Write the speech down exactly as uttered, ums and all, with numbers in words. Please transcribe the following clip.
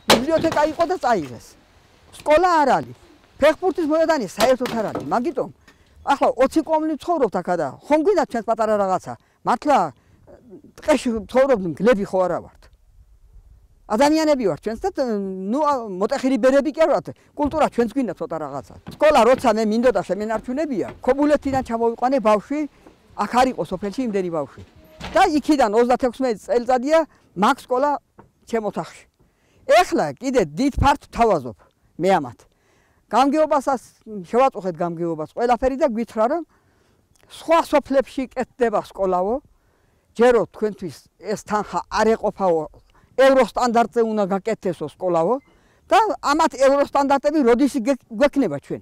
ბიბლიოთეკა იყო და წაიღეს. სკოლა არ არის. ფეხბურთის მოედანი საერთოდ არ არის. მაგიტომ ახლა ოცი კომლი ცხოვრობთ აქა და ხომ გვინდა ჩვენს პატარა რაღაცა. მართლა ტყეში ცხოვრობთ, გლები ხო არა ვართ. ადამიანები ვართ ჩვენც და ნუ მოტეხილი ბერები კი არ ვართ. კულტურა ჩვენც გვინდა ცოტა რაღაცა. სკოლა როცა მე მინდოდა შემენარჩუნებია, ქობულეთიდან ჩამოვიყვანე ბავშვი, აქ არ იყო სოფელში იმდენი ბავშვი. და იქიდან ოცდათექვსმეტი წელიწადია მაგ სკოლა ჩემ ოთახში. ეხლა კიდე დიდ ფართს თავაზობ მე ამათ. გამგეობასაც შევაწუხეთ გამგეობას ყველაფერი და გვითხრა რომ სხვა სოფლებში კეთდება სკოლაო. ჯერო თქვენთვის ეს თანხა არ ეყოფაო. ევროსტანდარტზე უნდა გაკეთესო სკოლაო და ამათ ევროსტანდარტები როდის გვექნება ჩვენ?